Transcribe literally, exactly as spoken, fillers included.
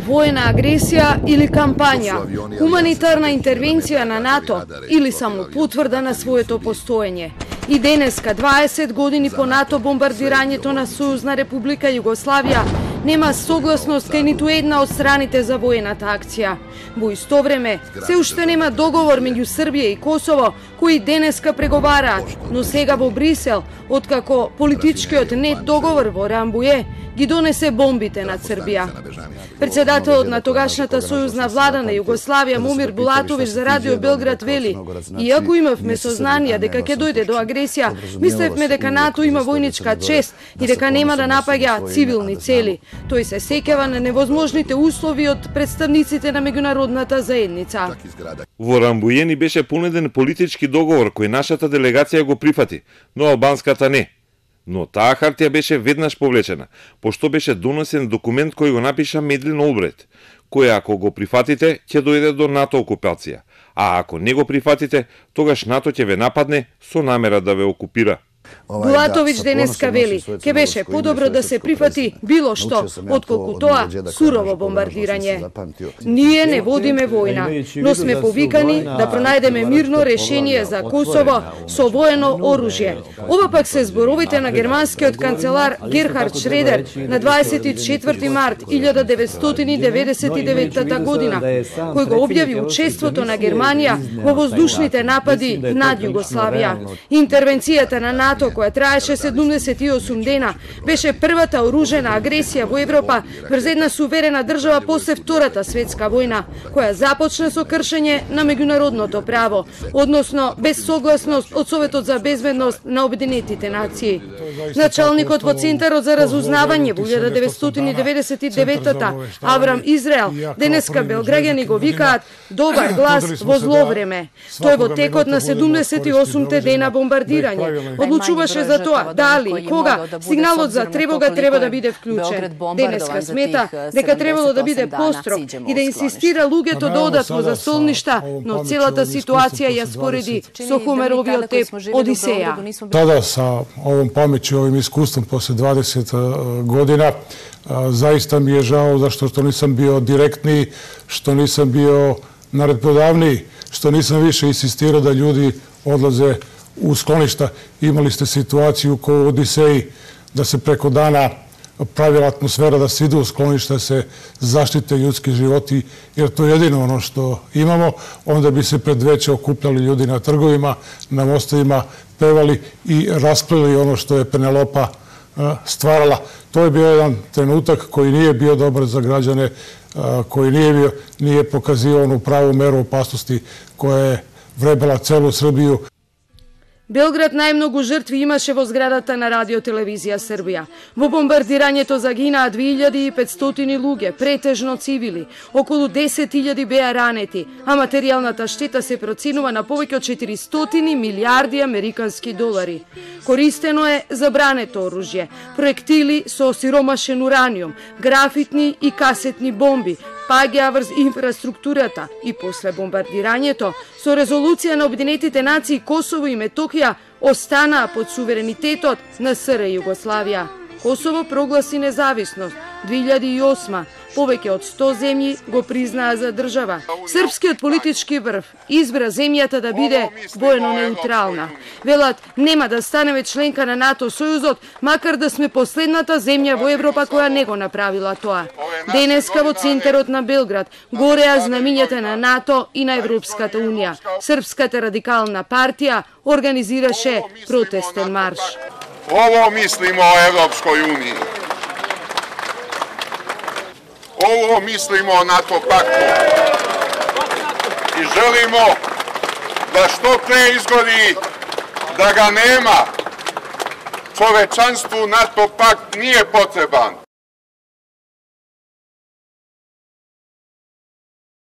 воена агресија или кампања, хуманитарна интервенција на НАТО или само потврда на своето постоење. И денеска, дваесет години по НАТО бомбардирањето на Сојузна република Југославија, нема согласност кај ниту една од страните за воената акција. Во исто време, се уште нема договор меѓу Србија и Косово, кои денеска преговараат, но сега во Брисел, откако политичкиот нет договор во Рамбује ги донесе бомбите над Србија. Председателот на тогашната сојузна влада на Југославија Момир Булатовиќ за Радио Белград вели: "Иако имавме сознание дека ќе дојде до агресија, мислевме дека НАТО има војничка чест и дека нема да напаѓа цивилни цели. Тој се сеќава на невозможните услови од представниците на меѓународната заедница." Во Рамбује ни беше понуден политички договор кој нашата делегација го прифати, но албанската не. Но таа хартија беше веднаш повлечена, пошто беше донесен документ кој го напиша Медлин Олбрайт, кој ако го прифатите, ќе дојде до НАТО окупација, а ако не го прифатите, тогаш НАТО ќе ве нападне со намера да ве окупира. Булатовиќ денеска вели, ке беше подобро да се прифати било што, отколку тоа сурово бомбардирање. Ние не водиме војна, но сме повикани да пронајдеме мирно решение за Косово со воено оружје. Ова пак се зборовите на германскиот канцелар Герхард Шредер на дваесет и четврти март илјада деветстотини деветдесет и девета година, кој го објави учеството на Германија во воздушните напади над Југославија. Интервенцијата на НАТО која траеше седумдесет и осум дена, беше првата оружена агресија во Европа врз една суверена држава после Втората светска војна, која започна со кршење на меѓународното право, односно без согласност од Советот за безбедност на Обединетите нации. Началникот во Центарот за разузнавање во илјада деветстотини деветдесет и девета Аврам Израел, денеска белграѓани го викаат добар глас во зло време. Тој во текот на седумдесет и осумте дена бомбардирање одлучуваше за тоа дали и кога сигналот за тревога треба да биде вклучен. Денеска смета дека требало да биде построг и да инсистира луѓето да одат во застолништа, но целата ситуација ја спореди со Хомеровиот еп Одисеја. Тада са овом памеќи, овим искуством после дваесет година, заиста ми е жао зашто што нисам био директни, што нисам био наредбодавни, што нисам више инсистирao да људи одлазе у склоништа. Имали сте ситуацiju кој Одисеј да се преко дана правила атмосфера да се иде у склоништа, се заштите људски животи, jer to je jedino ono što imamo. Onda bi se pred veće okupljali ljudi na trgovima, na mostovima, pevali i raspravljali ono što je Penelopa stvarala. To je bio jedan trenutak koji nije bio dobar za građane, koji nije, bio, nije pokazio onu pravu meru opasnosti koja je vrebala celu Srbiju. Белград најмногу жртви имаше во зградата на Радиотелевизија Србија. Во бомбардирањето загинаа две илјади и петстотини луѓе, претежно цивили. Околу десет илјади беа ранети, а материјалната штета се проценува на повеќе од четиристотини милијарди американски долари. Користено е забрането оружје, проектили со осиромашен ураниум, графитни и касетни бомби, паѓаа врз инфраструктурата и после бомбардирањето, со резолуција на Обединетите нации Косово и Метохија останаа под суверенитетот на СР Југославија. Косово прогласи независност две илјади и осма. Повеќе од сто земји го признаа за држава. Српскиот политички врв избра земјата да биде воено неутрална. Велат, нема да станеме членка на НАТО сојузот, макар да сме последната земја во Европа која не го направила тоа. Денеска во центарот на Белград гореа знамињата на НАТО и на Европската унија. Српската радикална партија организираше протестен марш. Ovo mislimo o Evropskoj uniji. Ovo mislimo o NATO paktu. I želimo da što pre izgodi da ga nema. Čovečanstvu NATO pakt nije potreban.